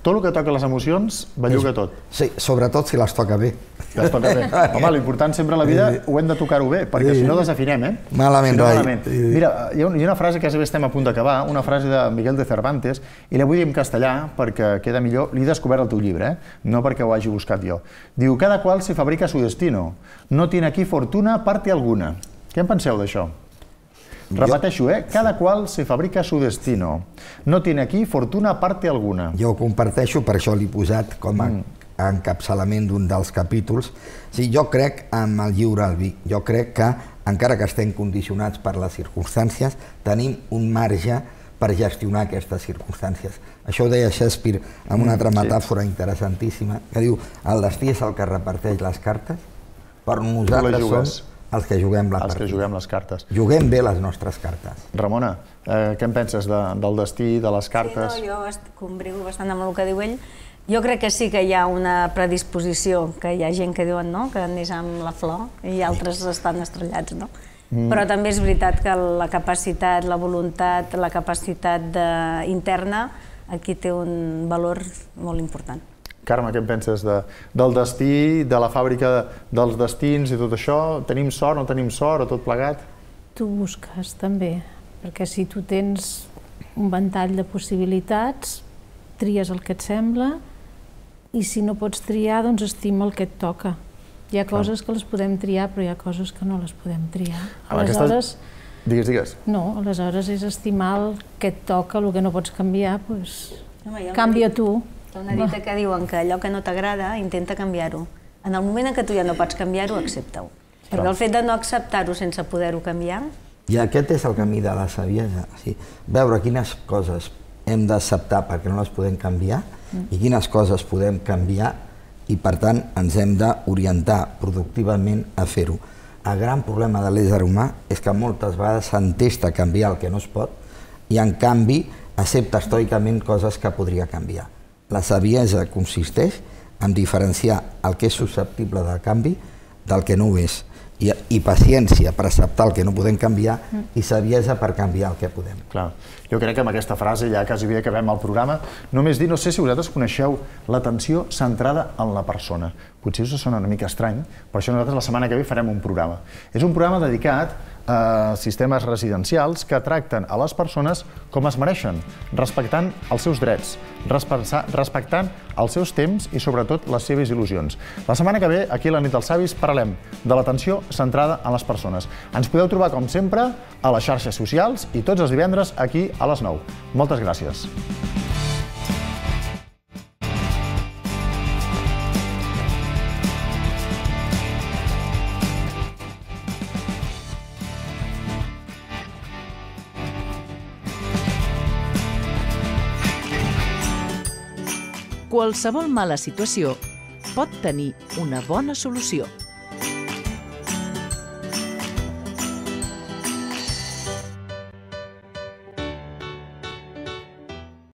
Tot el que toca les emocions, belluga tot. Sí, sobretot si les toca bé. Les toca bé. Home, l'important sempre a la vida ho hem de tocar-ho bé, perquè si no desafinem, eh? Malament, rai. Mira, hi ha una frase que quasi estem a punt d'acabar, una frase de Miguel de Cervantes, i la vull dir en castellà perquè queda millor. L'he descobert al teu llibre, no perquè ho hagi buscat jo. Diu, cada qual se fabrica su destino. No tiene aquí fortuna parte alguna. Què en penseu d'això? Repeteixo, eh? Cada qual se fabrica su destino. No tiene aquí fortuna parte alguna. Jo ho comparteixo, per això l'he posat com a encapçalament d'un dels capítols. Jo crec en el lliure albir. Jo crec que, encara que estem condicionats per les circumstàncies, tenim un marge per gestionar aquestes circumstàncies. Això ho deia Shakespeare amb una altra metàfora interessantíssima, que diu, el destí és el que reparteix les cartes, però nosaltres som els que juguem la partida. Els que juguem les cartes. Juguem bé les nostres cartes. Ramona, què en penses del destí, de les cartes? Sí, no, jo combrigo bastant amb el que diu ell. Jo crec que sí que hi ha una predisposició, que hi ha gent que diuen que neix amb la flor i altres estan estrellats, no? Però també és veritat que la capacitat, la voluntat, la capacitat interna aquí té un valor molt important. Carme, què en penses del destí, de la fàbrica dels destins i tot això? Tenim sort, no tenim sort, o tot plegat? Tu busques també, perquè si tu tens un ventall de possibilitats, tries el que et sembla, i si no pots triar, doncs estima el que et toca. Hi ha coses que les podem triar, però hi ha coses que no les podem triar. Aleshores... Digues, digues. No, aleshores és estimar el que et toca, el que no pots canviar, doncs canvia tu. Hi ha una dita que diuen que allò que no t'agrada, intenta canviar-ho. En el moment en què tu ja no pots canviar-ho, accepta-ho. Perquè el fet de no acceptar-ho sense poder-ho canviar... I aquest és el camí de la saviesa. Veure quines coses hem d'acceptar perquè no les podem canviar i quines coses podem canviar i, per tant, ens hem d'orientar productivament a fer-ho. El gran problema de l'ésser humà és que moltes vegades s'entesta canviar el que no es pot i, en canvi, accepta estoicament coses que podria canviar. La saviesa consisteix en diferenciar el que és susceptible de canvi del que no ho és, i paciència per acceptar el que no podem canviar i saviesa per canviar el que podem. Clar. Jo crec que amb aquesta frase ja quasi bé acabem el programa. Només dir, no sé si vosaltres coneixeu l'atenció centrada en la persona. Potser us sona una mica estrany, però això nosaltres la setmana que ve farem un programa. És un programa dedicat a sistemes residencials que tracten a les persones com es mereixen, respectant els seus drets, respectant els seus temps i sobretot les seves il·lusions. La setmana que ve, aquí a la Nit dels Savis, parlem de l'atenció centrada en les persones. Ens podeu trobar, com sempre, a les xarxes socials i tots els divendres aquí a les nou. Moltes gràcies. Qualsevol mala situació pot tenir una bona solució.